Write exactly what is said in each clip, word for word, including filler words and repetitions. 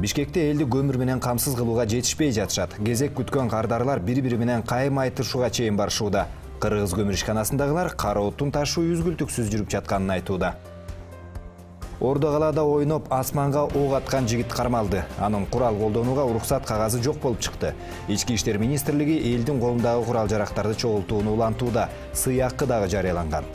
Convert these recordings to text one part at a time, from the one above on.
Бишкекте элди көмүр менен камсыз кылууга жетишпей жатышат. Кезек күткөн кардарлар бири-бири менен кайым айтышууга чейин барышууда. Кыргыз көмүр ишканасындагылар кара отун ташуу үзгүлтүксүз жүрүп жатканын айтууда. Ордо калаада ойноп асманга ок аткан жигит кармалды. Анын курал колдонууга уруксат кагазы жок болуп чыкты. Ички иштер министрлиги элдин колундагы курал-жарактарды чогултууну улантууда. Сый акы дагы жарыяланган.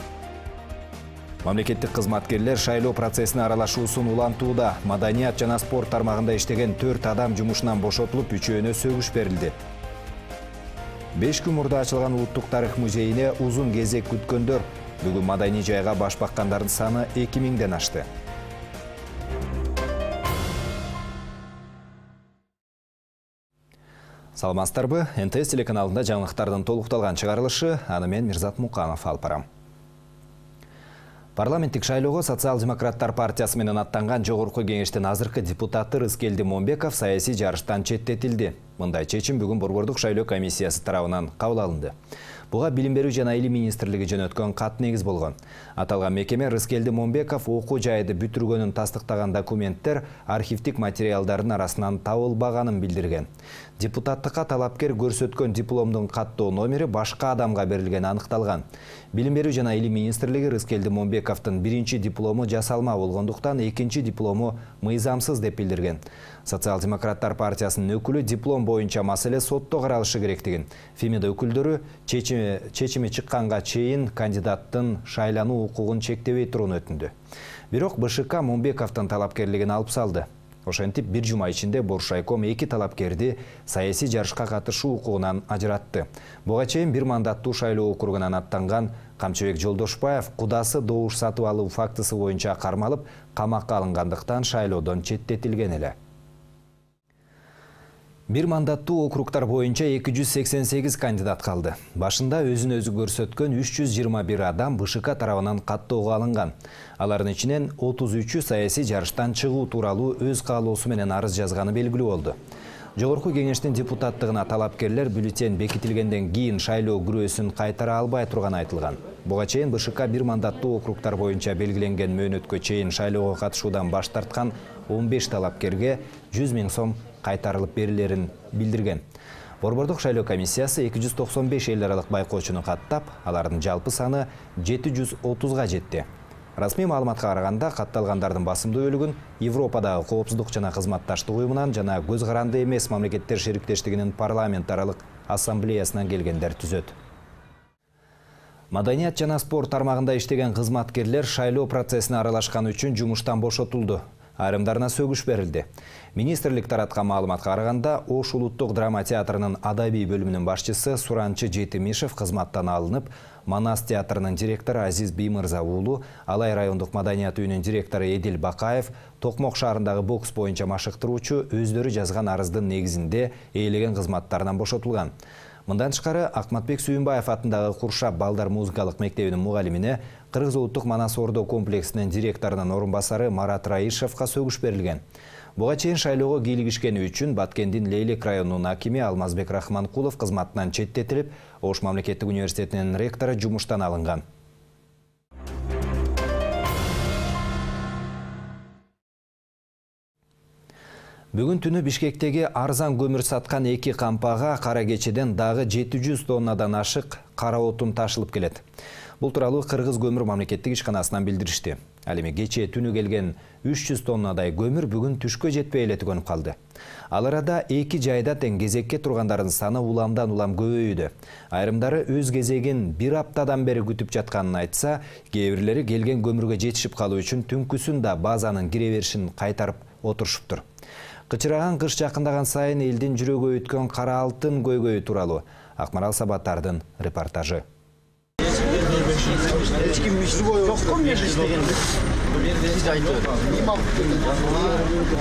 Мамлекеттик кызматкерлер шайлоо процессине аралашуусун улантууда. Маданият жана спорт тармагында иштеген төрт адам жумушунан бошотулуп, үчөөнө сөгүш берилди. беш күн мурда ачылган Улуттук тарых музейине узун кезек күткөндөр. Бүгүн маданий жайга баш баккандардын саны эки миңден ашты. Саламатсыздарбы? эн тэ эс телеканалында жаңылыктардын толукталган чыгарылышы, аны мен Мирзат Муканов алып барам. Парламенттик шайлоого Социал-демократтар партиясы менен аттанган жогорку кеңештин азыркы депутаты Рыскелди Момбеков саясий жарыштан четтетилди. Мындай чечим бүгүн Борбордук шайлоо комиссиясы тарабынан кабыл алынды. Буга билим берүү жана илим министрлиги жөнөткөн кат негиз болгон. Аталган мекеме Рыскелди Момбеков окуу жайды бүтүргөнүн тастыктаган документтер архивдик материалдардын арасынан табылбаганын билдирген. Депутаттыкка талапкер көрсөткөн дипломдун каттоо номери башка адамга берилгени аныкталган. Билим берүү жана илим министрлиги Рыскелди Момбековдун биринчи диплому жасалма болгондуктан экинчи диплому мыйзамсыз деп билдирген. Социал-демократтар партиясынын өкүлү диплом боюнча маселе сотто каралышы керектигин, Фемида өкүлдөрү чечими, чечими чыкканга чейин кандидаттын шайлануу укугун чектебей турууну өтүндү. Бирок бэ шэ ка Момбековдун талапкерлигин алып салды. Ошентип бир жума ичинде Боршайком эки талапкерди саясий жарышка катышуу укугунан ажыратты. Буга чейин бир мандаттуу шайлоо округунан аттанган Камчыбек Жолдошбаев кудасы добуш сатып алуу фактысы боюнча кармалып, камакка алынгандыктан шайлоодон четтетилген эле. Бир мандаттуу округтар боюнча эки жүз сексен сегиз кандидат калды. Башында өзүн өзү көрсөткөн үч жүз жыйырма бир адам бэ шэ ка тарабынан каттоого алынган. Алардын ичинен отуз үчү саясий жарыштан чыгуу тууралуу өз каалоосу менен арыз жазганы белгилүү болду. Жогорку кеңештин депутаттыгына талапкерлер бюллетень бекитилгенден кийин шайлоо күрөөсүн кайтара албай турганы айтылган. Буга чейин бэ шэ ка бир мандаттуу округтар боюнча белгиленген мөөнөткө чейин шайлоого катышуудан баш тарткан он беш талапкерге жүз миң сом кайтарылып берилерин билдирген. Борбордук шайлоо комиссиясы эки жүз токсон беш эл аралык байкоочуну каттап, алардын жалпы саны жети жүз отузга жетти. Расмий маалыматка караганда, катталгандардын басымдуу бөлүгүн Европадагы коопсуздук жана кызматташтык уюмунан жана көз каранды эмес мамлекеттер шериктештигинин парламент аралык ассамблеясынан келгендер түзөт. Маданият жана спорт тармагында иштеген кызматкерлер шайлоо процессине аралашканы үчүн жумуштан бошотулду. Айрымдарына сөгүш берилди. Министрлик тараткан маалыматка караганда, Ош улуттук драма театрынын адабий бөлүмүнүн башчысы Суранчы Жетимишев кызматтан алынып, Манас театрынын директору Азиз Биймырза уулу, Алай райондук маданият үйүнүн директору Эдил Бакаев, Токмок шаарындагы бокс боюнча машыктыруучу өздөрү жазган арыздын негизинде ээлеген кызматтарынан бошотулган. Мындан тышкары Акматбек Сүйүнбаев атындагы Куршап балдар музыкалык мектебинин мугалимине Кыргыз улуттук Манас Ордо комплексинин директорунун орун басары Марат Раишевка сөгүш берилген. Буга чейин шайлоого кийлигишкени үчүн Баткендин Лейлек районунун акими Алмазбек Рахманкулов кызматынан четтетилип, Ош мамлекеттик университетинин ректору жумуштан алынган. Бүгүн түнү Бишкектеги арзан көмүр саткан эки кампага кара кечеден дагы жети жүз тоннадан ашык кара отун ташылып келет. Бул тууралуу Кыргыз көмүр мамлекеттик ишканасынан билдиришти. Ал эми кечээ түнү келген үч жүз тоннадай көмүр бүгүн түшкө жетпей эле түгөнүп калды. Ал арада эки жайда тең кезекке тургандардын саны уламдан улам көбөйүүдө. Айрымдары өз кезегин бир аптадан бери күтүп жатканын айтса, кээ бирлери келген көмүргө жетишип калуу үчүн түнкүсүн да базанын кире беришин кайтарып отурушуптур. Кычыраган кыш жакындаган сайын элдин жүрөгү өткөн кара алтын көйгөйү тууралуу Акмарал Сабаттардын репортажы.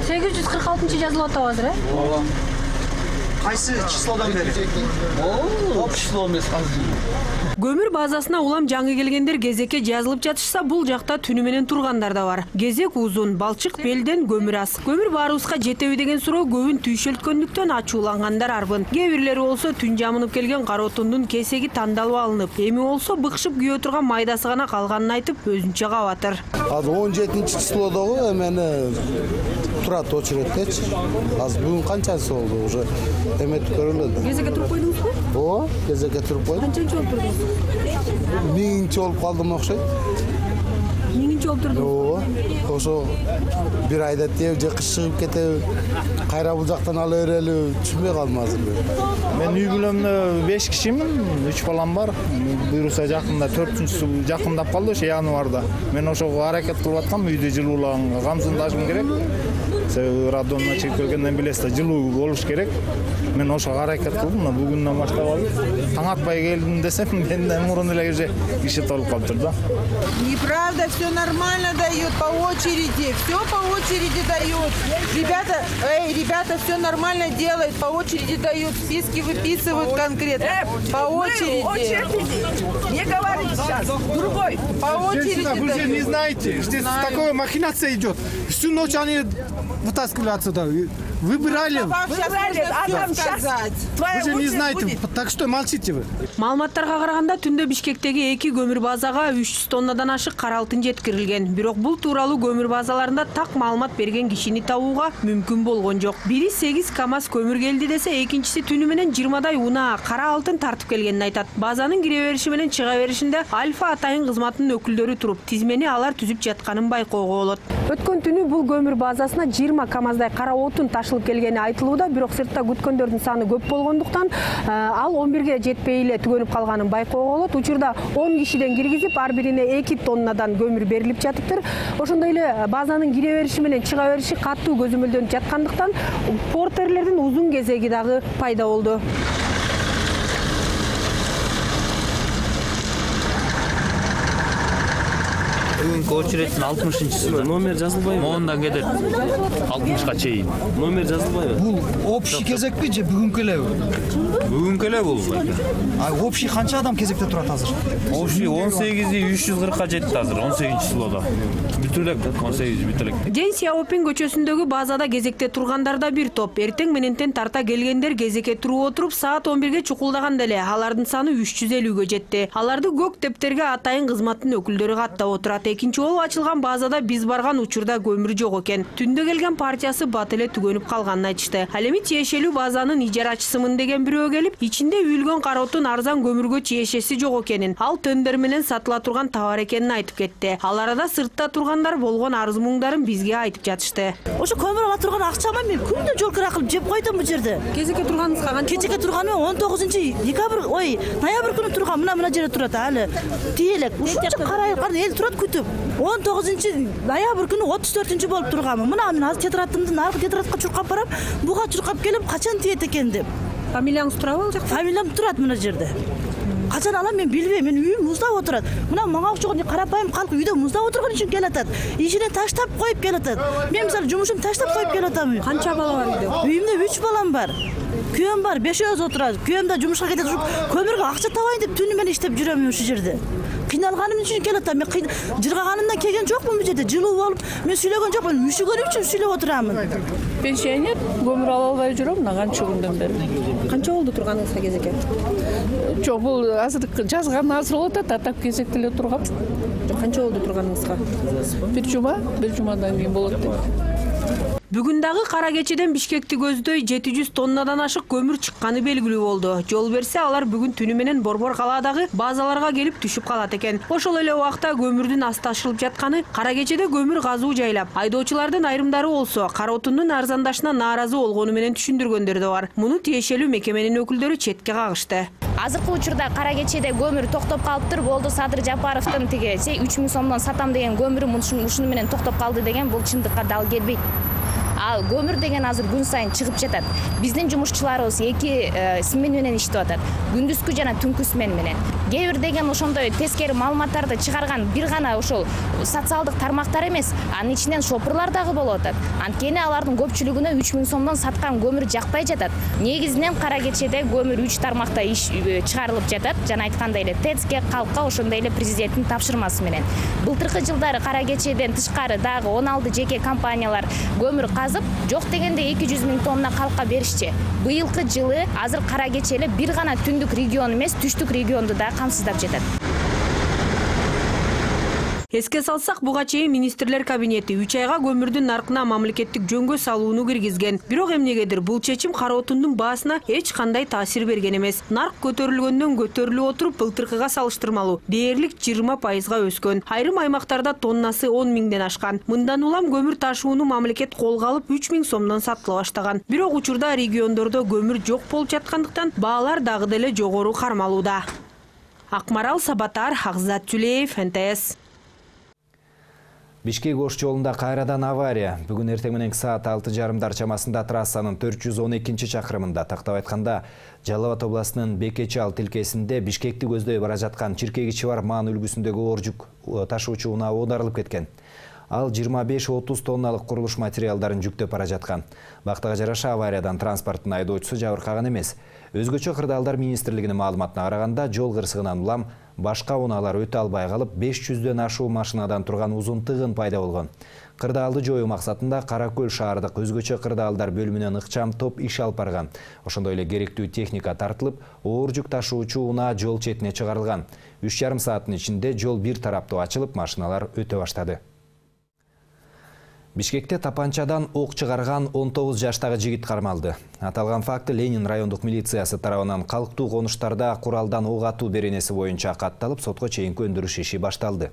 сегиз жүз кырк алтынчы жазылып атабы азыр, э? Кайсы числодан бери? О, число эмес азыр. Көмүр базасына улам жаңы келгендер кезекке жазылып жатышса, бул жакта түнү менен тургандар да бар. Кезек узун, балчык белден көмүр аз. Көмүр баарыбызга жетеби деген суроо көбүн түйшөлткөндүктөн ачуулангандар арбын. Кээ бирлери болсо түн жамынып келген кара отундун кесеги тандалып алынып, эми болсо быкшып күйө турган майдасы гана калганын айтып, өзүнчө кабатыр. Азыр он жетинчи числодогу эмени турат очередтечи. Азыр бүгүн канчасы болду? Уже эметип көрүлөт. Кезекке туруп койдуңузбу? Ооба, кезекке туруп койдум. Канчанчы болуп турдуңуз? Миңинчи болуп калдым окшойт. Миңинчи болуп турдуңуз? Ооба. Ошо бир айда теп же кыш чыгып кетеби, кайра бул жактан ала берели, түшүнбөй калдым азыр. Мен үй бүлөмдө беш кишимин, үч балам бар. Буюрса жакында төртүнчүсү жакындап калды ошо январда. Мен ошого аракет кылып аткам, үйдө жылуулаганга камсыздашым керек. Себеби радонуна чыгып келгенден билесиз, жылуу болуш керек. Мен ошого аракет кылдым, мына бүгүндөн баштап алып. Таң атпай келдим десем, менден мурун эле уже киши толуп калыптыр да. Неправда, все нормально дают по очереди, все по очереди дают. Ребята, эй, ребята, все нормально делают, по очереди дают, списки выписывают конкретно. По очереди. Не говорите сейчас, другой. По очереди дают. Вы же не знаете, здесь такая махинация идет. Всю ночь они вытаскивали отсюда. Выбирали. Вам сейчас нужно все сказать. Вы же не знаете, так что молчите вы. Маалыматтарга караганда түндө Бишкектеги эки көмүр базага үч жүз тоннадан ашык кара алтын жеткирилген. Бирок бул тууралуу көмүр базаларында так маалымат берген кишини табууга мүмкүн болгон жок. Бири сегиз КАМАЗ көмүр келди десе, экинчиси түнү менен жыйырмадай унаа кара алтын тартып келгенин айтат. Базанын кире бериши менен чыга беришинде Альфа атайын кызматынын өкүлдөрү туруп, тизмени алар түзүп жатканын байкоого болот. Өткөн түнү бул көмүр базасына жыйырма КАМАЗдай кара отун ташылып келгени айтылууда, бирок сыртта күткөндөрдүн саны көп болгондуктан ал он бирге жетпей эле түгөнүп калганын байкоого болот. Учурда он кишиден киргизип, ар бирине эки тоннадан көмүр берилип жатыптыр. Ошондой эле базанын кире бериши менен чыга бериши катуу көзөмөлдөнүп жаткандыктан портерлердин узун кезеги дагы пайда болду. Бүгүнкү очереддин алтымышынчысы. Номер жазылбайбы? Мондан кетет алтымышка чейин. Номер жазылбайбы? Бул общий кезекпи же бүгүнкү элеби? Бүгүнкү эле бул. А общий канча адам кезекте турат азыр? Общий он сегизи үч жүз кыркка жетти азыр, он сегизинчи числода. Бүтүп элек, он сегизи бүтүп элек. Ден Сяопин көчөсүндөгү базада кезекте тургандар да бир топ. Эртең менентен тарта келгендер кезекке туруп отуруп, саат он бирге чукулдаганда эле алардын саны үч жүз элүүгө жетти. Аларды көк тептерге атайын кызматтын өкүлдөрү каттап отурат. Экинчи болуп ачылган базада биз барган учурда көмүр жок экен. Түндө келген партиясы бат эле түгөнүп калганын айтышты. Ал эми тиешелүү базанын ижарачысымын деген бирөө келип, ичинде үйүлгөн кара отун арзан көмүргө тиешеси жок экенин, ал тендер менен сатыла турган товар экенин айтып кетти. Ал арада сыртта тургандар болгон арыз муңдарын бизге айтып жатышты. Ошо көмүр ала турган акчама мен күндө жол кыра кылып жеп койдум бул жерде. Кезекке турганыңызга канча? Кезекке турганым он тогузунчу декабрь, ой, ноябрь күнү турган. Мына мына жерде турат алы. Тиелек. Ушунча кара эл турат күтүп. он тогузунчу ноябрь күнү отуз төртүнчү болуп турганмын. Мына мен азыр тетрадымдын аркы тетрадка чуркап барам. Буга чуркап келип, качан тиет экен деп. Фамилияңыз турабы ал жакта? Фамилиям турат мына жерде. Качан алам мен билбейм. Мен үйүм муздап отурат. Мына мага окшогон карапайым калк үйдө муздап отурган үчүн келатат. Ишине таштап коюп келатат. Мен мисалы жумушум таштап коюп келатам. Канча бала бар үйдө? Үйүмдө үч балам бар. Күйөөм бар, бешөөз отурат. Күйөөм да жумушка кетет. Көмүргө акча табайын деп түнү менен иштеп жүрөм ушул жерде. Кыйналганым үчүн келатам. Мен жыргаганымдан келген жокмун бул жерде. Жылуу болуп, мен сүйлөгөн жокмун. Мүшүгөнүм үчүн сүйлөп отурамын. Пенсионер, көмүр ала албай жүрөм, мына канча күндөн бери. Канча болду турганыңызга кезекке? Жок, бул азыр жазган азыр болот, атап кезекте эле тургам. Канча болду турганыңызга? Бир жума, бир жумадан кийин болот деп. Бүгүн дагы кара кечеден Бишкекти көздөй жети жүз тоннадан ашык көмүр чыкканы белгилүү болду. Жол берсе алар бүгүн түнү менен Борбор калаадагы базаларга келип түшүп калат экен. Ошол эле убакта көмүрдүн асты ашылып жатканы, кара кечеде көмүр газуу жайлап, айдоочулардын айрымдары болсо кара отундун арзандашына нааразы болгону менен түшүндүргөндөр да бар. Муну тиешелүү мекеменин өкүлдөрү четке кагышты. Азыркы учурда кара кечеде көмүр токтоп калыптыр. Болду Садыр Жапаровдун тиги үч миң сомдон сатам деген көмүрү ушуну менен токтоп калды деген бул чындыкка дал келбейт. Ал көмүр деген азыр күн сайын чыгып жатат. Биздин жумушчуларыбыз эки смена менен иштеп атат. Күндүзгү жана түнкү смена менен. Кээ бир деген ошондой тескери маалыматтарды чыгарган бир гана ошол социалдык тармактар эмес, анын ичинен шопурлар дагы болуп атат. Анткени алардын көпчүлүгүнө үч миң сомдон саткан көмүр жакпай жатат. Негизинен кара кечеде көмүр үч тармакта иш чыгарылып жатат. Жана айткандай эле ТЭЦке, калкка, ошондой эле президенттин тапшырмасы менен. Былтыркы жылдары кара кечеден тышкары дагы он алты жеке компаниялар көмүр казып, жок дегенде эки жүз миң тонна калкка беришчи. Быйылкы жылы азыр кара кече эле бир гана түндүк регион эмес, түштүк регионду да камсыздап жатат. Эске салсак, буга чейин министрлер кабинети үч айга көмүрдүн наркына мамлекеттик жөнгө салууну киргизген. Бирок эмнегедир бул чечим кара отундун баасына эч кандай таасир берген эмес. Нарк көтөрүлгөндөн көтөрүлүп отуруп, былтыркыга салыштырмалуу дээрлик жыйырма пайызга өскөн. Айрым аймактарда тоннасы он миңден ашкан. Мындан улам көмүр ташууну мамлекет колго алып үч миң сомдон сатыла баштаган. Бирок учурда региондордо көмүр жок болуп жаткандыктан баалар дагы деле жогору кармалууда. Акмарал Сабатар, Акзат Түлеев, эн тэ эс. Бишкек-Ош жолунда кайрадан авария. Бүгүн эртең мененки саат алты жарымдар чамасында трассанын төрт жүз он экинчи чакырымында, тактап айтканда Жалал Абад областынын Бекечал тилкесинде Бишкекти көздөй бара жаткан чиркегичи бар маан үлгүсүндөгү оор жүк ташуучу унаа оодарылып кеткен. Ал жыйырма беш отуз тонналык курулуш материалдарын жүктөп бара жаткан. Бактыга жараша авариядан транспорттун айдоочусу жабыркаган эмес. Өзгөчө кырдаалдар министрлигинин маалыматына караганда, жол кырсыгынан улам башка унаалар өтө албай калып, беш жүздөн ашуу машинадан турган узун тыгын пайда болгон. Кырдаалды жоюу максатында Кара Көл шаардык өзгөчө кырдаалдар бөлүмүнөн ыкчам топ иш алып барган. Ошондой эле керектүү техника тартылып, оор жүк ташуучу унаа жол четине чыгарылган. үч жарым сааттын ичинде жол бир тараптуу ачылып, машиналар өтө баштады. Бишкекте тапанчадан ок чыгарган он тогуз жаштагы жигит кармалды. Аталган факты Ленин райондук милициясы тарабынан калктуу конуштарда куралдан ок атуу беренеси боюнча катталып, сотко чейинки өндүрүш иши башталды.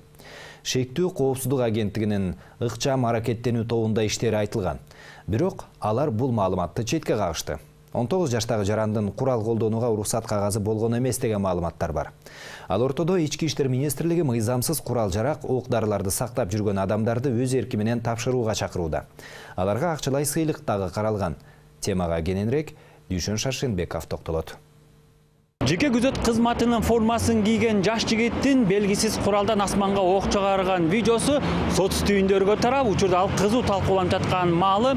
Шектүү коопсуздук агенттигинин ыкчам аракеттенүү тобунда иштери айтылган. Бирок алар бул маалыматты четке кагышты. он тогуз жаштагы жарандын курал колдонууга уруксат кагазы болгон эмес деген маалыматтар бар. Ал ортодо Ички иштер министрлиги мыйзамсыз курал-жарак, ок-дарыларды сактап жүргөн адамдарды өз эрки менен тапшырууга чакырууда. Аларга акчалай сыйлык дагы каралган. Темага кененирээк Дүйшөн Шаршенбеков токтолот. Жеке күзөт кызматынын формасын кийген жаш жигиттин белгисиз куралдан асманга ок чыгарган видеосу сот стүйүндөргө тарап, учурда ал кызуу талкууланып жаткан маалы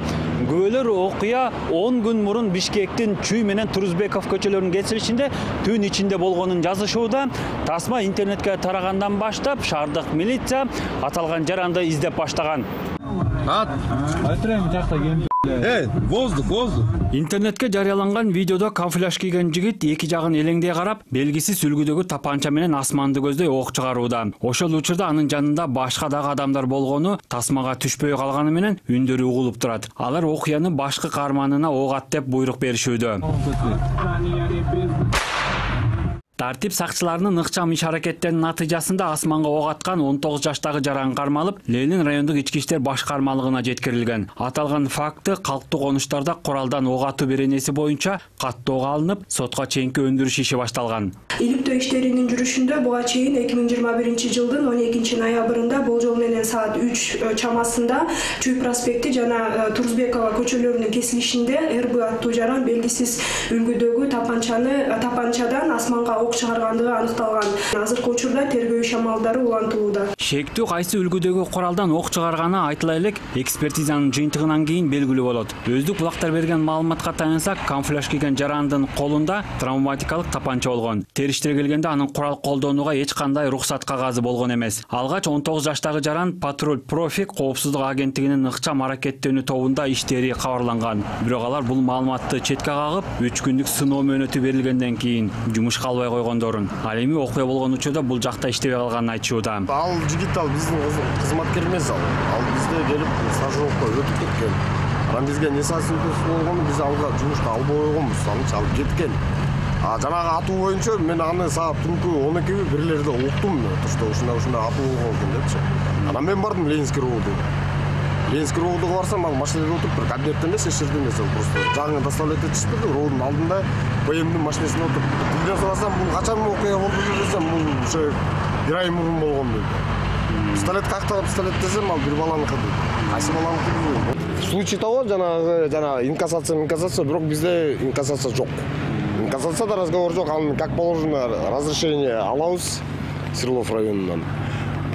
күбөлөр окуя он күн мурун Бишкектин Чүй менен Турузбеков көчөлөрүнүн кесилишинде түн ичинде болгонун жазышууда. Тасма интернетке тарагандан баштап шаардык милиция аталган жаранды издеп баштаган. Эй, воздух, воздух. Интернетке жарыяланган видеодо камуфляж кийген жигит эки жагын элеңдей карап, белгисиз үлгүдөгү тапанча менен асманды көздөй ок чыгарууда. Ошол учурда анын жанында башка дагы адамдар болгону тасмага түшпөй калганы менен үндөрү угулуп турат. Алар окуяны башкы каарманына ок ат деп буйрук беришүүдө. Тартип сакчыларынын ыкчам иш аракеттеринин натыйжасында асманга ок аткан он тогуз жаштагы жаран кармалып, Ленин райондук ички иштер башкармалыгына жеткирилген. Аталган факты калктуу конуштарда куралдан ок атуу беренеси боюнча каттоого алынып, сотко чейинки өндүрүш иши башталган. Иликтөө иштеринин жүрүшүндө буга чейин эки миң жыйырма биринчи жылдын он экинчи ноябрында болжол менен саат үч чамасында Чүй проспекти жана Турузбекова көчөлөрүнүн кесилишинде эр бэ аттуу жаран белгисиз үлгүдөгү тапанчаны тапанчадан асманга ок чыгаргандыгы аныкталган. Азыркы учурда тергөө иш амалдары улантылууда. Шектүү кайсы үлгүдөгү куралдан ок чыгарганы айтыла элек, экспертизанын жыйынтыгынан кийин белгилүү болот. Өздүк булактар берген маалыматка таянсак, камуфляж кийген жарандын колунда травматикалык тапанча болгон. Териштире келгенде анын курал колдонууга эч кандай уруксат кагазы болгон эмес. Алгач он тогуз жаштагы жаран Патруль Профик коопсуздук агенттигинин ыкчам аракеттенүү тобунда иштери кабарланган. Бирок алар бул маалыматты четке кагып, үч күндүк сыноо мөөнөтү берилгенден кийин жумушка албай койгондорун. Ал эми окуя болгон учурда бул жакта иштебей калганын айтышууда. Ал жигит ал биздин кызматкер эмес ал. Ал бизде келип стажировка өтүп кеткен. Анан бизге несасыздык болгону биз алга жумушка албай койгонбуз. Анча алып кеткен. А жанагы атуу боюнча мен аны саат түнкү он экиби бирлерде уктум. Тушта ушундай ушундай атуу болгон экен депчи. Анан мен бардым Ленинский роодго. Ленинский роодго барсам, ал машинада отуруп тур, кабинетте эмес, эч жерде эмес, просто жаңы доставлять этишти, рооддун алдында бэ эмдин машинасында отуруп. Тилден сурасам, бул качан окуя болду десем, бул ушу бир ай мурун болгон дейт. Пистолет кактагы пистолет десем, ал бир баланыкы дейт. кайсы баланы курдубу? Случай того, жанагы жана инкассация, инкассация, бирок бизде инкассация жок. Инкассацияда разговор жок, ал как положено разрешение алабыз Свердлов районунан.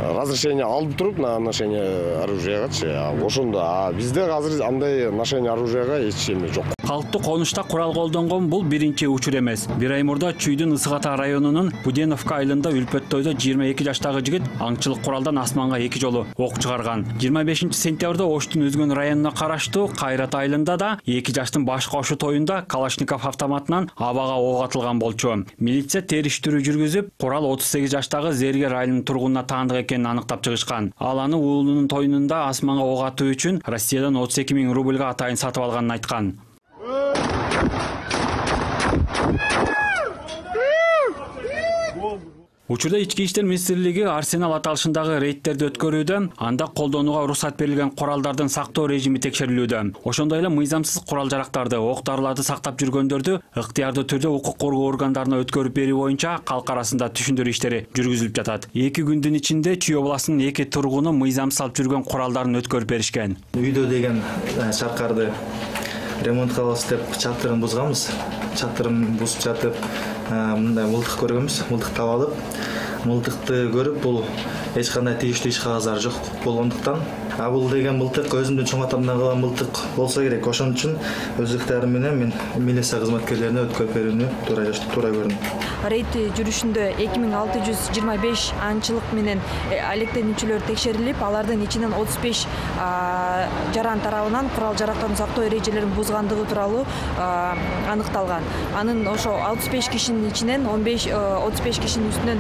Разрешение алып туруп на ношение оружиягачы, ошондо. А бизде азыр андай ношение оружияга эч эме жок. Калктуу конушта курал колдонгон бул биринчи учур эмес. Бир ай мурда Чүйдүн Ысык Ата районунун Буденовка айылында Үлпөттөйдө жыйырма эки жаштагы жигит аңчылык куралдан асманга эки жолу ок чыгарган. жыйырма бешинчи сентябрда Оштун Өзгөн районуна караштуу Кайрат айылында да эки жаштын баш кошуу тоюнда Калашников автоматынан абага ок атылган болчу. Милиция териштирүү жүргүзүп, курал отуз сегиз жаштагы Зергер айылынын тургунуна таандык экенин аныктап чыгышкан. Ал аны уулунун тоюнунда асманга ок атуу үчүн Россиядан отуз эки миң рубльга атайын сатып алганын айткан. Учурда ички иштер министрлиги Арсенал аталышындагы рейдтерди өткөрүүдө, анда колдонууга уруксат берилген куралдардын сактоо режими текшерилүүдө. Ошондой эле мыйзамсыз курал-жарактарды, ок-дарыларды сактап жүргөндөрдү ыктыярдуу түрдө укук коргоо органдарына өткөрүп берүү боюнча калк арасында түшүндүрүү иштери жүргүзүлүп жатат. эки күндүн ичинде Чүй областынын эки тургуну мыйзамсыз алып жүргөн куралдарын өткөрүп беришкен. Үйдө деген шаркарды ремонт кылабыз деп чатырын бузганбыз. Чатырын бузуп жатып, мындай мылтык көргөнбүз. Мылтыкты алып, мылтыкты көрүп, бул эч кандай тийиштүү иш кагаздары жок болгондуктан, а бул деген мылтык өзүмдүн чоң атамдан калган мылтык болсо керек. Ошон үчүн өз ыктыярым менен мен милиция кызматкерлерине өткөрүп берүүнү туура туура көрдүм. Рейд жүрүшүндө эки миң алты жүз жыйырма беш аңчылык менен алектенүүчүлөр текшерилип, алардын ичинен отуз беш жаран тарабынан курал-жарактарды сактоо эрежелерин бузгандыгы тууралуу аныкталган. Анын ошо отуз беш кишинин ичинен он беш отуз беш кишинин үстүнөн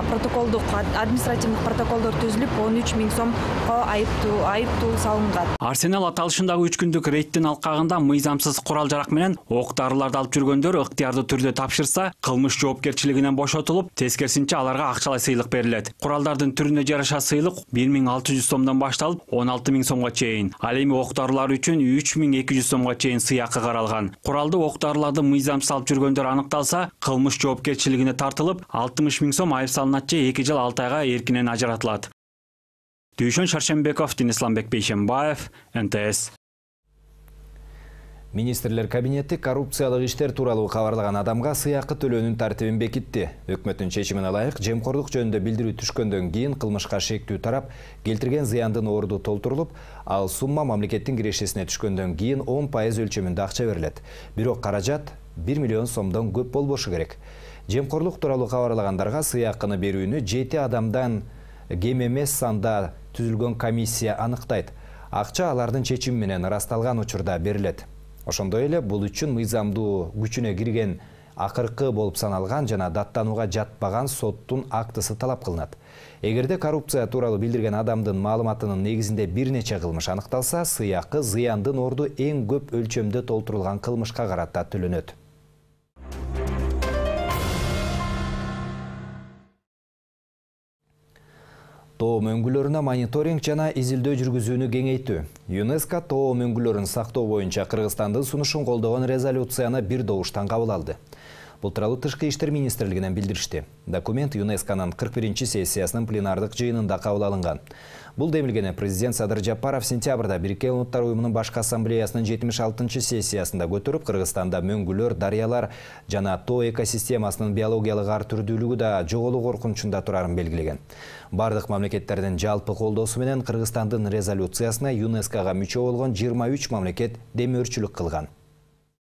протоколдук административдик протоколдор түзүлүп, он үч миң сомго айыптуу айыптуу салынган. Арсенал аталышындагы үч күндүк рейдтин алкагында мыйзамсыз курал-жарак менен ок-дарыларды алып жүргөндөр ыктыярдуу түрдө тапшырса, кылмыш жоопкерчилигинен бошотулуп, тескерисинче аларга акчалай сыйлык берилет. Куралдардын түрүнө жараша сыйлык бир миң алты жүз сомдон башталып, он алты миң сомго чейин. Ал эми ок-дарылар үчүн үч миң эки жүз сомго чейин сыйакы каралган. Куралды ок-дарыларды мыйзамсыз алып жүргөндөр аныкталса, кылмыш жоопкерчилигине тартылып, алтымыш миң сом айып салынат же эки жыл алты айга эркинен ажыратылат. Дүйшөн Шаршембеков, Денисламбек Бейшембаев, эн тэ эс. Министрлер кабинети коррупциялык иштер тууралуу кабарлаган адамга сыйакы төлөөнүн тартибин бекитти. Өкмөттүн чечимине ылайык жемкорлук жөнүндө билдирүү түшкөндөн кийин кылмышка шектүү тарап келтирген зыяндын орду толтурулуп, ал сумма мамлекеттин кирешесине түшкөндөн кийин он пайыз өлчөмүндө акча берилет. Бирок каражат бир миллион сомдон көп болбошу керек. Жемкорлук тууралуу кабарлагандарга сыйакыны берүүнү жети адамдан кем эмес санда түзүлгөн комиссия аныктайт. Акча алардын чечими менен ырасталган учурда берилет. Ошондой эле бул үчүн мыйзамдуу күчүнө кирген акыркы болуп саналган жана даттанууга жатпаган соттун актысы талап кылынат. Эгерде коррупция тууралуу билдирген адамдын маалыматынын негизинде бир нече кылмыш аныкталса, сыйакы зыяндын орду эң көп өлчөмдө толтурулган кылмышка карата төлөнөт. Тоо мөңгүлөрүнө мониторинг жана изилдөө жүргүзүүнү кеңейтүү. ЮНЕСКО тоо мөңгүлөрүн сактоо боюнча Кыргызстандын сунушун колдогон резолюцияны бир добуштан кабыл алды. Бул тууралуу Тышкы иштер министрлигинен билдиришти. Документ ЮНЕСКОнун кырк биринчи сессиясынын пленардык жыйынында кабыл алынган. Бул демилгени президент Садыр Жапаров сентябрда Бириккен Улуттар уюмунун башкы ассамблеясынын жетимиш алтынчы сессиясында көтөрүп, Кыргызстанда мөңгүлөр, дарыялар жана тоо экосистемасынын биологиялык ар түрдүүлүгү да жоголуу коркунучунда турарын белгилеген. Бардык мамлекеттердин жалпы колдоосу менен Кыргызстандын резолюциясына ЮНЕСКОга мүчө болгон жыйырма үч мамлекет демөөрчүлүк кылган.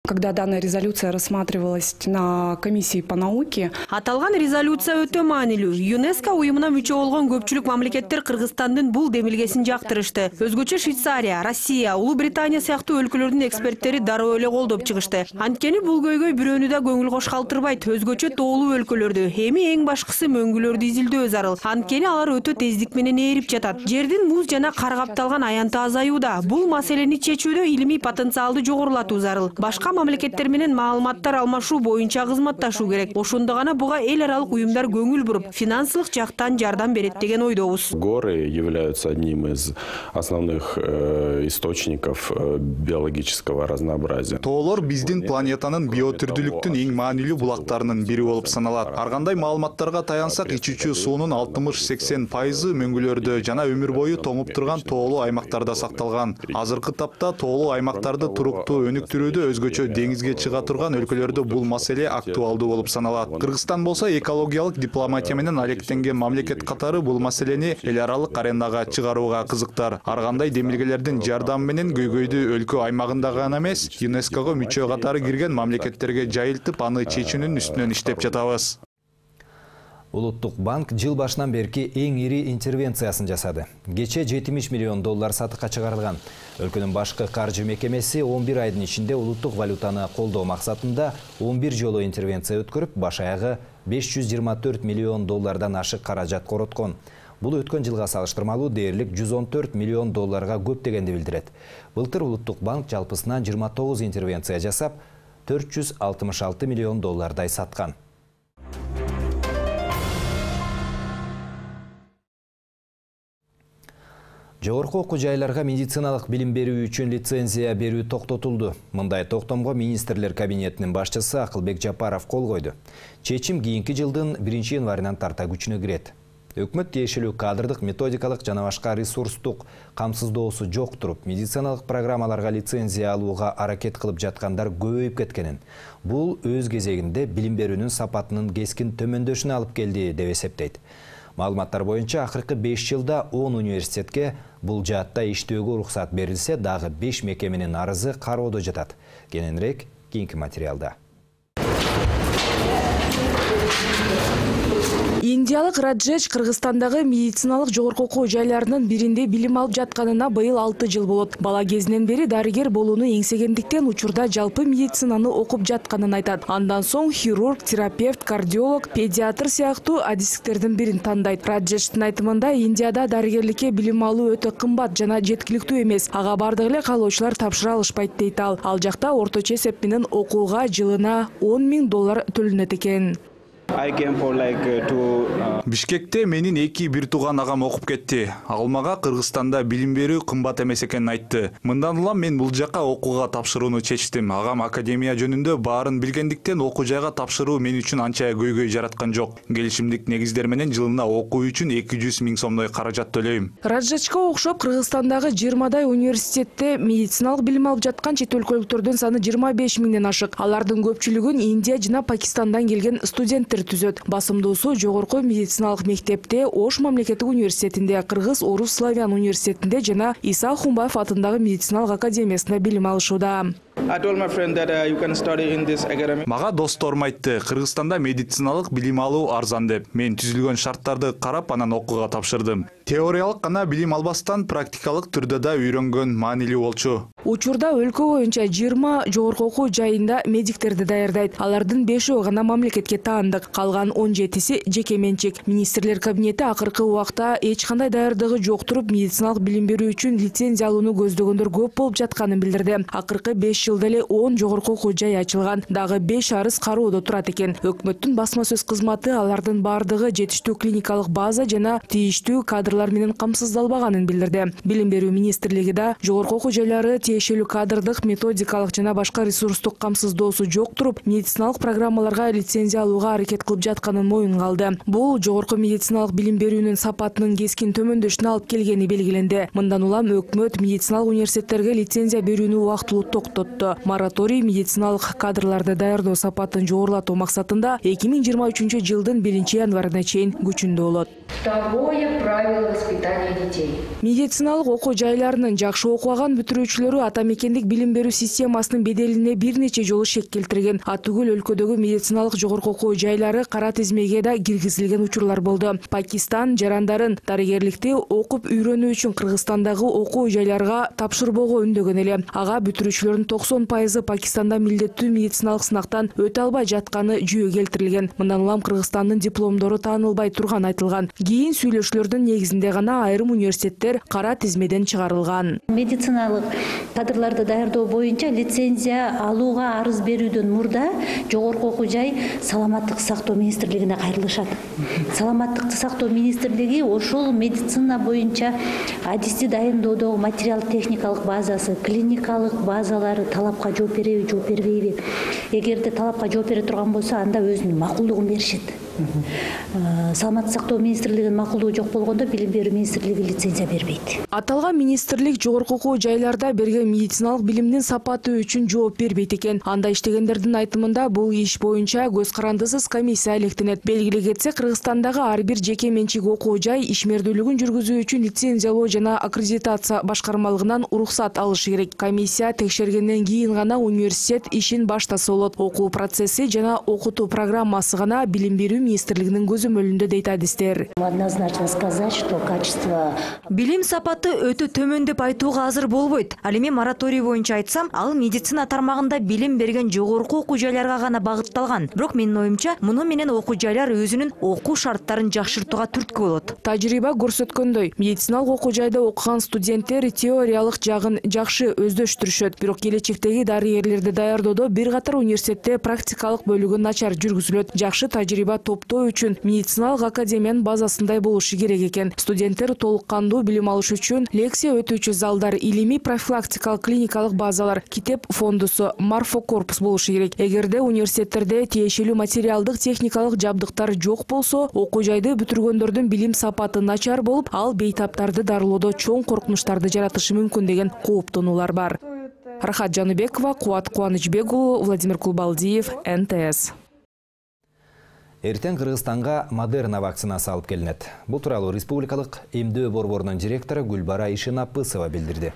Когда данная резолюция рассматривалась на комиссии по науке, аталган резолюция өтө маанилүү. ЮНЕСКО уюмуна мүчө болгон көпчүлүк мамлекеттер Кыргызстандын бул демилгесин жактырышты. Өзгөчө Швейцария, Россия, Улуу Британия сыяктуу өлкөлөрдүн эксперттери дароо эле колдоп чыгышты. Анткени бул көйгөй бирөөнү да көңүл кош калтырбайт. Өзгөчө тоолуу өлкөлөрдү, эми эң башкысы мөңгүлөрдү изилдөө зарыл. Анткени алар өтө тездик менен ээрип жатат. Жердин муз жана кар капталган аянты азаюуда. Бул маселени чечүүдө илимий потенциалды жогорулатуу зарыл. Башка мамлекеттер менен маалыматтар алмашуу боюнча кызматташуу керек. Ошондо гана буга эл аралык уюмдар көңүл буруп, финансылык жактан жардам берет деген ойдобуз. Горы являются одним из основных э, источников э, биологического разнообразия. Тоолор биздин планетанын биотүрдүүлүктүн эң маанилүү булактарынын бири болуп саналат. Ар кандай маалыматтарга таянсак, ичүүчү суунун алтымыш сексен пайызы мөңгүлөрдө жана өмүр бою тоңуп турган тоолуу аймактарда сакталган. Азыркы тапта тоолуу аймактарды туруктуу өнүктүрүүдө өзгөчө деңизге чыга турган өлкөлөрдө бул маселе актуалдуу болуп саналат. Кыргызстан болсо экологиялык дипломатия менен алектенген мамлекет катары бул маселени эл аралык аренага чыгарууга кызыктар. Ар кандай демилгелердин жардамы менен көйгөйдү өлкө аймагында гана эмес, ЮНЕСКОго мүчө катары кирген мамлекеттерге жайылтып, аны чечүүнүн үстүнөн иштеп жатабыз. Улуттук банк жыл башынан берки эң ири интервенциясын жасады. Кече жетимиш миллион доллар сатыкка чыгарылган. Өлкөнүн башкы каржы мекемеси он бир айдын ичинде улуттук валютаны колдоо максатында он бир жолу интервенция өткөрүп, баш аягы беш жүз жыйырма төрт миллион доллардан ашык каражат короткон. Бул өткөн жылга салыштырмалуу дээрлик жүз он төрт миллион долларга көп дегенди билдирет. Былтыр улуттук банк жалпысынан жыйырма тогуз интервенция жасап, төрт жүз алтымыш алты миллион доллардай саткан. Жогорку окуу жайларга медициналык билим берүү үчүн лицензия берүү токтотулду. Мындай токтомго министрлер кабинетинин башчысы Акылбек Жапаров кол койду. Чечим кийинки жылдын биринчи январынан тарта күчүнө кирет. Өкмөт тиешелүү кадрдык, методикалык жана башка ресурстук камсыздоосу жок туруп, медициналык программаларга лицензия алууга аракет кылып жаткандар көбөйүп кеткенин. Бул өз кезегинде билим берүүнүн сапатынын кескин төмөндөшүнө алып келди деп эсептейт. Маалыматтар боюнча акыркы беш жылда он университетке бул жаатта иштөөгө уруксат берилсе, дагы беш мекеменин арызы кароодо жатат. Кененирээк кийинки материалда. Индиялык Раджеш Кыргызстандагы медициналык жогорку окуу жайларынын биринде билим алып жатканына быйыл алты жыл болот. Бала кезинен бери дарыгер болууну эңсегендиктен учурда жалпы медицинаны окуп жатканын айтат. Андан соң хирург, терапевт, кардиолог, педиатр сыяктуу адистиктердин бирин тандайт. Раджештин айтымында Индияда дарыгерликке билим алуу өтө кымбат жана жеткиликтүү эмес. Ага бардык эле каалоочулар тапшыра алышпайт дейт ал. Ал жакта орточо эсеп менен окууга жылына он миң доллар төлөнөт экен. Бишкекте менин эки бир тууган агам окуп кетти. Ал мага Кыргызстанда билим берүү кымбат эмес экенин айтты. Мындан улам мен бул жака окууга тапшырууну чечтим. Агам академия жөнүндө баарын билгендиктен окуу жайга тапшыруу мен үчүн анча көйгөй жараткан жок. Келишимдик негиздер менен жылына окуу үчүн эки жүз миң сомдой каражат төлөйм. Раджечко окшоп Кыргызстандагы жыйырмадай университетте медициналык билим алып жаткан чет өлкөлүктөрдүн саны жыйырма беш миңден ашык. Алардын көпчүлүгүн Индия жана Пакистандан келген студенттер түзөт. Басымдуусу жогорку медициналык мектепте, Ош мамлекеттик университетинде, Кыргыз Орус Славян университетинде жана Иса Хумбаев атындагы медициналык академиясында билим алышууда. Мага досторум айтты, Кыргызстанда медициналык билим алуу арзан деп. Мен түзүлгөн шарттарды карап анан окууга тапшырдым. Теориялык гана билим албастан практикалык түрдө да үйрөнгөн маанилүү болчу. Учурда өлкө боюнча жыйырма жогорку окуу жайында медиктерди даярдайт. Алардын бешөө гана мамлекетке таандык, калган он жетиси жеке менчик. Министрлер кабинети акыркы убакта эч кандай даярдыгы жок туруп, медициналык билим берүү үчүн лицензия алууну көздөгөндөр көп болуп жатканын билдирди. Акыркы беш жылда эле он жогорку окуу жай ачылган, дагы беш арыз кароодо турат экен. Өкмөттүн басма сөз кызматы алардын бардыгы жетиштүү клиникалык база жана тийиштүү кадрлар менен камсыздалбаганын билдирди. Билим берүү министрлиги да жогорку окуу жайлары тиешелүү кадрдык, методикалык жана башка ресурстук камсыздоосу жок туруп, медициналык программаларга лицензия алууга аракет кылып жатканын моюнга алды. Бул жогорку медициналык билим берүүнүн сапатынын кескин төмөндөшүнө алып келгени белгиленди. Мындан улам өкмөт медициналык университеттерге лицензия берүүнү убактылуу токтотту. Мораторий медициналык кадрларды даярдоо сапатын жогорулатуу максатында эки миң жыйырма үчүнчү жылдын биринчи январына чейин күчүндө болот. Второе правило воспитания детей. Медициналык окуу жайларынын жакшы окуган бүтүрүүчүлөрү ата мекендик билим берүү системасынын беделине бир нече жолу шек келтирген. Атүгүл өлкөдөгү медициналык жогорку окуу жайлары кара тизмеге да киргизилген учурлар болду. Пакистан жарандарын дарыгерликти окуп үйрөнүү үчүн Кыргызстандагы окуу жайларга тапшырбоого үндөгөн эле. Ага бүтүрүүчүлөрдүн токсон пайызы Пакистанда милдеттүү медициналык сынактан өтө албай жатканы жүйө келтирилген. Мындан улам Кыргызстандын дипломдору таанылбай турган айтылган. Кийин сүйлөшүүлөрдүн негизинде гана айрым университеттер кара тизмеден чыгарылган. Медициналык Кадрларды даярдоо боюнча лицензия алууга арыз берүүдөн мурда жогорку окуу жай саламаттык сактоо министрлигине кайрылышат. Саламаттык сактоо министрлиги ошол медицина боюнча адисти дайындоодогу материал техникалык базасы, клиникалык базалары талапка жооп береби, жооп бербейби? Эгерде талапка жооп бере турган болсо, анда өзүнүн макулдугун беришет. Саламаттык сактоо министрлигинин макулдугу жок болгондо билим берүү министрлиги лицензия бербейт. Аталган министрлик жогорку окуу жайларда берген медициналык билимдин сапаты үчүн жооп бербейт экен. Анда иштегендердин айтымында бул иш боюнча көз карандысыз комиссия электенет. Белгилей кетсек, Кыргызстандагы ар бир жеке менчик окуу жай ишмердүүлүгүн жүргүзүү үчүн лицензиялоо жана аккредитация башкармалыгынан уруксат алышы керек. Комиссия текшергенден кийин гана университет ишин баштаса болот. Окуу процесси жана окутуу программасы гана билим берүү министрлигинин көзөмөлүндө дейт адистер. Однозначно сказать, что качество билим сапаты өтө төмөн деп айтууга азыр болбойт. Ал эми мораторий боюнча айтсам, ал медицина тармагында билим берген жогорку окуу жайларга гана багытталган. Бирок менин оюмча, муну менен окуу жайлар өзүнүн окуу шарттарын жакшыртууга түрткү болот. Тажрыйба көрсөткөндөй, медициналык окуу жайда окуган студенттер теориялык жагын жакшы өздөштүрүшөт. Бирок келечектеги дарыгерлерди даярдоодо бир катар университетте практикалык бөлүгү начар жүргүзүлөт. Жакшы тажрыйба топтоо үчүн медициналык академиянын базасындай болушу керек экен. Студенттер толук кандуу билим алыш үчүн лекция өтүүчү залдар, илимий профилактикалык клиникалык базалар, китеп фондусу, морфокорпус болушу керек. Эгерде университеттерде тиешелүү материалдык техникалык жабдыктар жок болсо, окуу жайды бүтүргөндөрдүн билим сапаты начар болуп, ал бейтаптарды дарылоодо чоң коркунучтарды жаратышы мүмкүн деген кооптонуулар бар. Рахат Жаныбекова, Кубат Кубанычбек уулу, Владимир Кулбалдиев, эн тэ эс. Эртең Кыргызстанга Модерна вакцинасы алып келинет. Бул тууралуу республикалык эмдөө борборунун директору Гүлбара Ишенапысова билдирди.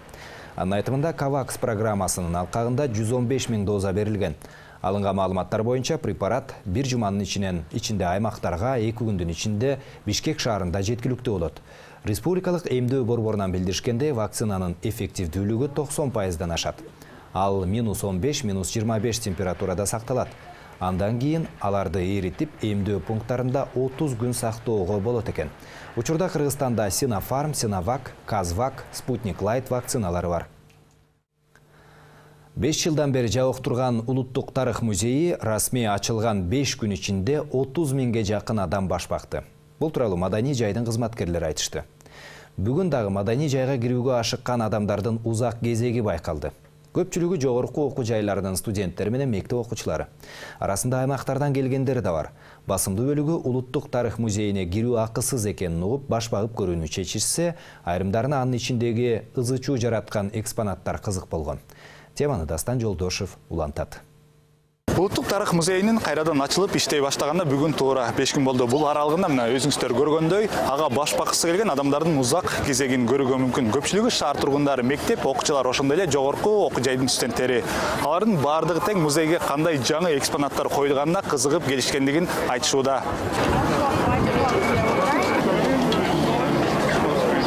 Анын айтымында Кавакс программасынын алкагында жүз он беш миң доза берилген. Алынган маалыматтар боюнча препарат бир жуманын ичинен ичинде аймактарга эки күндүн ичинде Бишкек шаарында жеткиликтүү болот. Республикалык эмдөө борборунан билдиришкенде, вакцинанын эффективдүүлүгү токсон пайыздан ашат. Ал минус он беш, минус жыйырма беш температурада сакталат. Андан кийин аларды эритип, эмдөө пункттарында отуз күн сактоого болот экен. Учурда Кыргызстанда Синофарм, Синовак, Казвак, Спутник Лайт вакциналары бар. беш жылдан бери жабык турган Улуттук тарых музейи расмий ачылган беш күн ичинде отуз миңге жакын адам баш бакты. Бул тууралуу маданий жайдын кызматкерлери айтышты. Бүгүн дагы маданий жайга кирүүгө ашыккан адамдардын узак кезеги байкалды. Көпчүлүгү жогорку окуу жайларынын студенттери менен мектеп окуучулары. Арасында аймактардан келгендер да бар. Басымдуу бөлүгү Улуттук тарых музейине кирүү акысыз экенин угуп, баш багып көрүүнү чечишсе, айрымдарына анын ичиндеги ызы-чуу жараткан экспонаттар кызык болгон. Теманы Дастан Жолдошев улантат. Улуттук тарых музейинин кайрадан ачылып иштей баштаганына бүгүн туура беш күн болду. Бул аралыгында мына өзүңүздөр көргөндөй, ага баш баккысы келген адамдардын узак кезегин көрүүгө мүмкүн. Көпчүлүгү шаар тургундары, мектеп окуучулар, ошондой эле жогорку окуу жайдын студенттери. Алардын баардыгы тең музейге кандай жаңы экспонаттар коюлганына кызыгып келишкендигин айтышууда.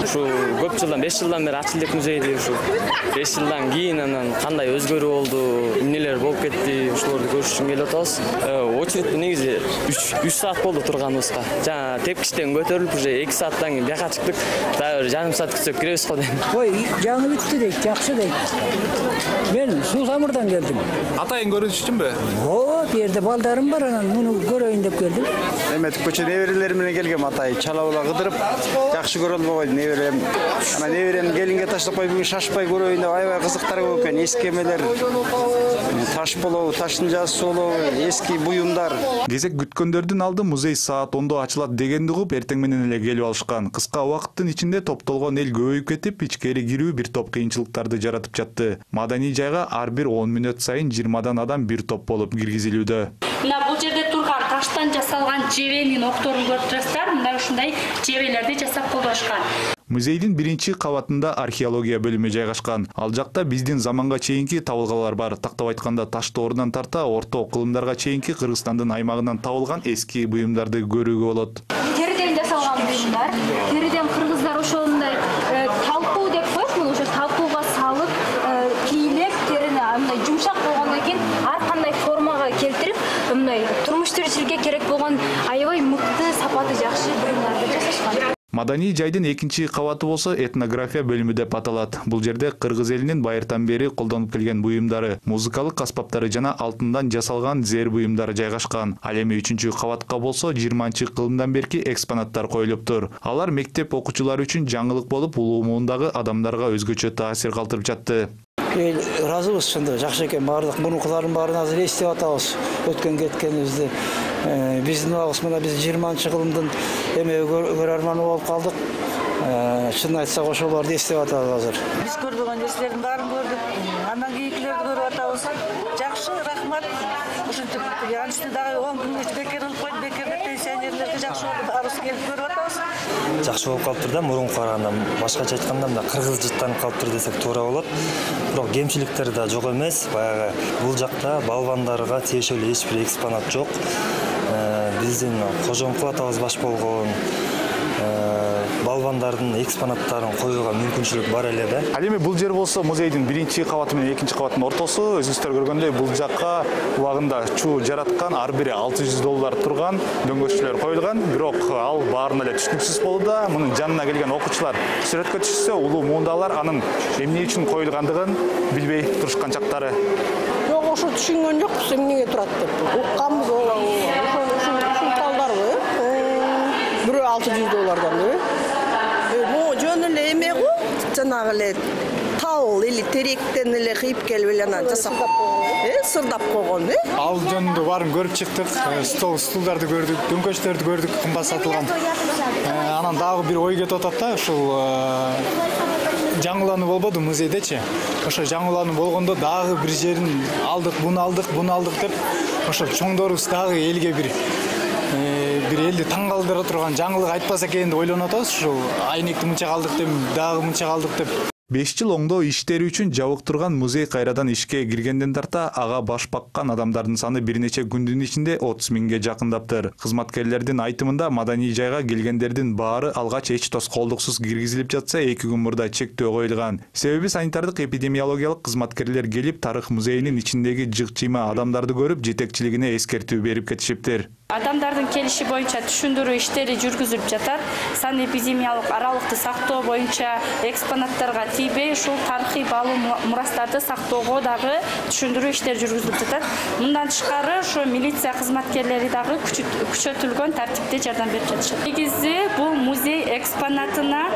Ушу көп жылдан, беш жылдан бери ачылдык музейди, ушу беш жылдан кийин анан кандай өзгөрүү болду, эмнелер болуп кетти, ушуларды көрүш үчүн келип атабыз. Очередь негизи үч саат болду турганыбызга. Жана тепкичтен көтөрүлүп уже эки сааттан кийин бияка чыктык. Дагы жарым саат күтсөк киребиз го дейм. Ой, жаңы бүттү дейт, жакшы дейт. Мен Суу Самырдан келдим. Атайын көрүш үчүнбү? О, бу жерде балдарым бар, анан муну көрөйүн деп келдим. Эметип көчө неберелер менен келгем, атай чала-була кыдырып, жакшы көрө албай неберем. Ана неберем келинге таштап кой, бүгүн шашпай көрөйүн деп аябай кызыктар көп экен. Эски эмелер, таш болобу, таштын жазысы болобу, эски буюмдар. Кезек күткөндөрдүн алды музей саат ондо ачылат дегенди угуп, эртең менен эле келип алышкан. Кыска убакыттын ичинде топтолгон эл көбөйүп кетип, ичкери кирүү бир топ кыйынчылыктарды жаратып жатты. Маданий жайга ар бир он мүнөт сайын жыйырмадан адам бир топ болуп киргизилүүдө. Мына бул жерде турган таштан жасалган жебенин окторун көрүп жатсыздар, мына ушундай жебелерди жасап колдошкан. Музейдин биринчи кабатында археология бөлүмү жайгашкан. Ал жакта биздин заманга чейинки табылгалар бар. Тактап айтканда таш доорунан тарта орто кылымдарга чейинки Кыргызстандын аймагынан табылган эски буюмдарды көрүүгө болот. Териден жасалган буюмдар. Териден кыргыздар ошондой талкуу деп коет, муну ошо талкууга салып, кийлеп, терини мындай жумшак болгондон кийин ар кандай формага келтирип, мындай турмуш тиричиликке керек болгон аябай мыкты, сапаты жакшы буюмдарды жасашкан. Маданий жайдын экинчи кабаты болсо этнография бөлүмү деп аталат. Бул жерде кыргыз элинин байыртан бери колдонуп келген буюмдары, музыкалык аспаптары жана алтындан жасалган зер буюмдары жайгашкан. Ал эми үчүнчү кабатка болсо жыйырманчы кылымдан берки экспонаттар коюлуптур. Алар мектеп окуучулары үчүн жаңылык болуп, улуу муундагы адамдарга өзгөчө таасир калтырып жатты. Эл ыраазыбыз, ошондой жакшы экен. Баардык мурункулардын баарын азыр эстеп атабыз. Өткөн кеткенибизди. Биздин убагыбыз мына биз жыйырманчы кылымдын эме көрөрманы болуп калдык. Чын айтсак ошолорду эстеп атабыз азыр. Биз көрбөгөн нерселердин баарын көрдүк. Андан кийинкилерди көрүп атабыз. Жакшы, рахмат. Ушинтип, янычты дагы он күнгө бекер кылып койду, бекер пенсионерлерге жакшы болду. Баарыбыз келип көрүп атабыз. Жакшы болуп калыптыр да, мурунку караганда. Башкача айтканда, мына кыргыз жыттанып калыптыр десек туура болот. Бирок кемчиликтер да жок эмес. Баягы бул жакта балбандарга тиешелүү эч бир экспонат жок. Биздин кожомкул атабыз баш болгон балбандардын экспонаттарын коюуга мүмкүнчүлүк бар эле да. Ал эми бул жер болсо музейдин биринчи кабаты менен экинчи кабаттын ортосу. Өзүңүздөр көргөндөй бул жакка убагында чуу жараткан ар бири алты жүз доллар турган дөңгөччүлөр коюлган. Бирок ал баарына эле түшүнүксүз болууда. Мунун жанына келген окуучулар сүрөткө түшсө, улуу муундагылар анын эмне үчүн коюлгандыгын билбей турушкан чактары. Жок, ошо түшүнгөн жокпуз эмнеге турат деп. Укканбыз ошол талдарбы? Бирөө алты жүз доллардан э? Жөн эле эме го, жанагы эле тал или теректен эле кыйып келип эле анан жасап, э, сырдап койгон, э? Ал жөнүндө баарын көрүп чыктык. Стол, стулдарды көрдүк, дөңгөчтөрдү көрдүк, кымбат сатылган. Анан дагы бир ой кетип атат да, ушул жаңылануу болбоду музейдечи. Ошо жаңылануу болгондо дагы бир жерин алдык, буну алдык, буну алдык деп, ошо чоңдорубуз дагы элге бир бир элди таң калтыра турган жаңылык айтпаса экен деп ойлонуп атабыз. Ушул айнекти мынча калдык деп, дагы мынча калдык деп. беш жыл оңдоо иштери үчүн жабык турган музей кайрадан ишке киргенден тарта ага баш баккан адамдардын саны бир нече күндүн ичинде отуз миңге жакындаптыр. Кызматкерлердин айтымында Маданий жайга келгендердин баары алгач эч тоскоолдуксуз киргизилип жатса, эки күн мурда чектөө коюлган. Себеби санитардык эпидемиологиялык кызматкерлер келип, тарых музейинин ичиндеги жык-жыйма адамдарды көрүп, жетекчилигине эскертүү берип кетишиптир. Адамдардын келиши боюнча түшүндүрүү иштери жүргүзүлүп жатат. Сан эпидемиялык аралыкты сактоо боюнча экспонаттарга тийбей, ушул тарыхый баалуу мурастарды сактоого дагы түшүндүрүү иштери жүргүзүлүп жатат. Мындан тышкары, ошо милиция кызматкерлери дагы күчөтүлгөн тартипте жардам берип жатышат. Негизи бул музей экспонатына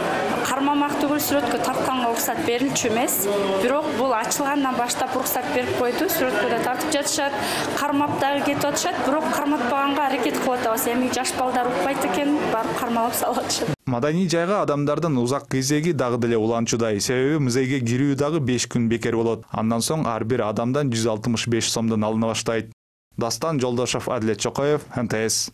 кармамак түгүл сүрөткө тартканга уруксат берилчү эмес. Бирок бул ачылгандан баштап уруксат берип койду, сүрөткө да тартып жатышат. Кармап дагы кетип атышат, бирок карматпаганга аракет кылып атабыз. Эми жаш балдар укпайт экен, барып кармалап салып атышат. Маданий жайга адамдардын узак кезеги дагы деле уланчудай. Себеби музейге кирүү дагы беш күн бекер болот. Андан соң ар бир адамдан жүз алтымыш беш сомдон алына баштайт. Дастан Жолдошов, Адилет Чокоев, эн тэ эс.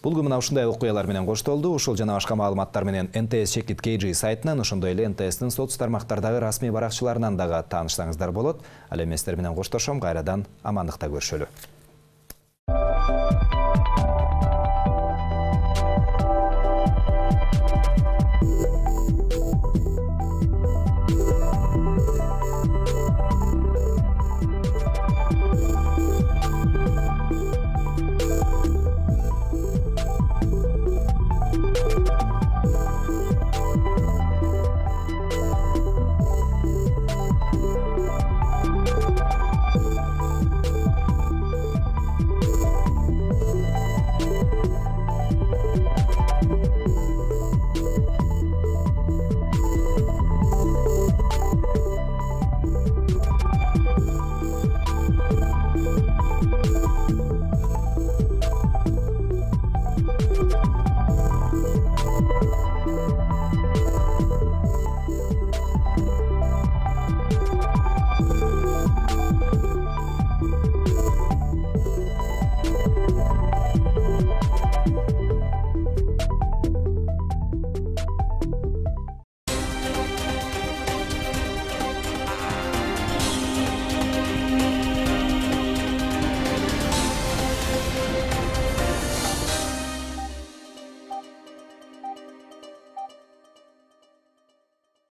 Булгу мына ушундай окуялар менен коштолду. Ушул жана башка маалыматтар менен эн тэ эс Чекит кей джи сайтынан, ошондой эле эн тэ эстин соц тармактардагы расмий баракчаларынан дагы таанышсаңыздар болот. Ал эми сиздер менен коштошом, кайрадан амандыкта көрүшөлү.